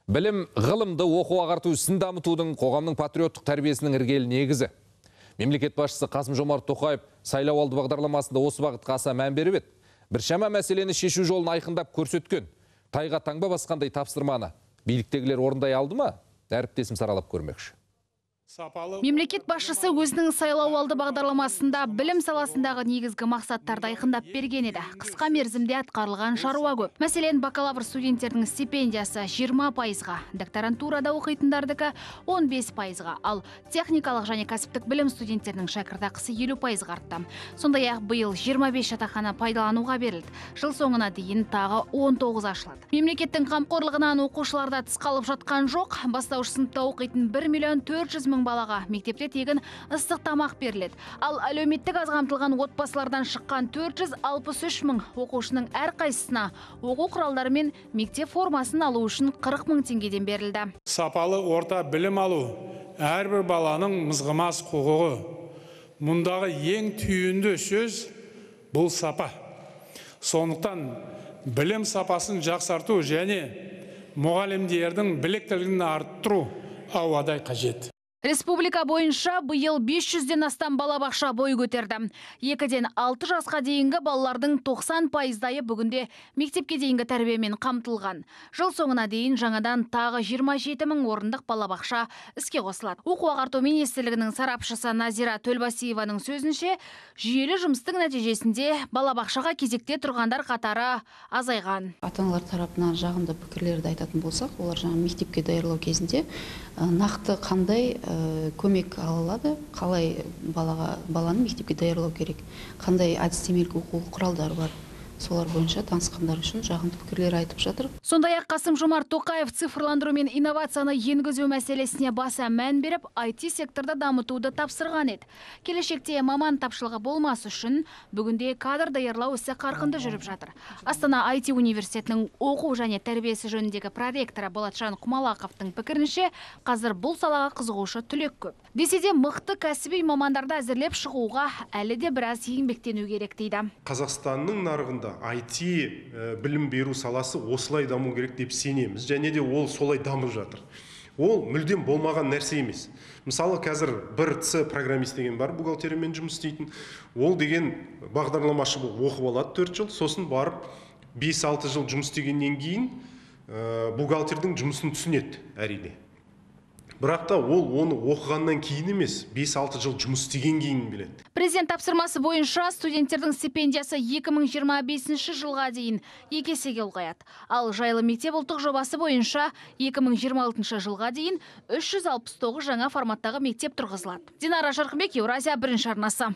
Білім, ғылымды оқу ағарту ісін дамытудың қоғамның патриоттық тәрбиесінің іргелі негізі. Мемлекет басшысы Қасым-Жомарт Тоқаев сайлауалды бағдарламасында осы бағытқа аса мән беріп еді. Біршама мәселені шешу жолын айқындап көрсеткен. Тайға таңба басқандай тапсырманы биліктегілер орындай алды ма? Әріптесім саралап көрмекші. Мемлекет басшысы өзінің сайлауалды бағдарламасында білім саласындағы негізгі мақсаттарды айқындап берген еді. Қысқа мерзімде атқарылған шаруа көп. Мәселен, бакалавр студенттердің стипендиясы 20%-ға, докторантурада оқитындардікі 15%-ға, ал техникалық және кәсіптік білім студенттерінің шәкіртақысы 50%-ға артты. Сондай-ақ биыл 25 жатақхана пайдалануға берілді. Жыл соңына дейін тағы 19 ашылады. Мемлекеттің қамқорлығынан оқушыларда тыс қалып жатқан жоқ. Бастауыш сыныпта оқитын 1 400 000 балаға мектепте тегін ыстық тамақ беріледі. Ал әлеуметтік аз қамтылған отбасылардан шыққан 463 000 оқушының әрқайсысына оқу құралдары мен мектеп формасын алу үшін 40 000 теңгеден берілді. Сапалы орта білім алу әрбір баланың мызғымас құқығы. Мұндағы ең түйінді сөз бұл сапа. Сондықтан білім сапасын жақсарту және мұғалімдердің біліктілігін арттыру ауадай қажет. Республика бойынша биыл 500-ден астам балабақша бой көтерді. 2-ден 6 жасқа дейінгі балалардың 90%-дайы бүгінде мектепке дейінгі тәрбиемен қамтылған. Жыл соңына дейін жаңадан тағы 27 000 орындық балабақша іске қосылады. Оқу ағарту министрлігінің сарапшысы Назира Төлбасиеваның сөзінше, жүйелі жұмыстың нәтижесінде балабақшаға кезекте тұрғандар қатары азайған. Ата-аналар тарапынан жағымды пікірлерді айтатын болсақ, олар жаңа мектепке даярлау кезінде нақты қандай көмек алады, қалай баланы мектепке даярлау керек, қандай әдістемелік оқу құралдары бар. Солар бойынша танысқандар үшін жағымды пікірлер айтып жатыр. Сондай-ақ Қасым-Жомарт Тоқаев цифрландыру мен инновацияны енгізу мәселесіне баса мән беріп, IT секторда дамытуды тапсырған еді. Келешекте маман тапшылығы болмас үшін бүгінде кадр даярлау ісі қарқынды жүріп жатыр. Астана IT университетінің оқу және тәрбиесі жөніндегі проректоры Болатжан Құмалақовтың пікірінше, қазір бұл салаға қызығушы түлек көп. Десе де мықты кәсіби мамандарды әзірлеп шығуға әлі де біраз еңбектену керек дейді. Қазақстанның нарығында IT білім беру саласы осылай даму керек деп сенеміз, және де ол солай дамып жатыр. Ол мүлдем болмаған нәрсе емес. Мысалы, қазір бір программист деген бар, бухгалтериямен жұмыс істейтін. Ол деген бағдарламашы оқып алады 4 жыл, сосын барып 5-6 жыл жұмыс істегеннен кейін бухгалтердің жұмысын түсінеді, әрине. Бірақ та ол оны оқығаннан кейін емес, 5-6 жыл жұмыс істеген кейін біледі. Президент тапсырмасы бойынша студенттердің стипендиясы 2025 жылға дейін 2 есеге ұлғаяды. Ал жайлы мектеп ұлттық жобасы бойынша 2026 жылға дейін 369 жаңа форматтағы мектеп тұрғызылады. Динара Жарқынбек, Еуразия бірінші арнасы.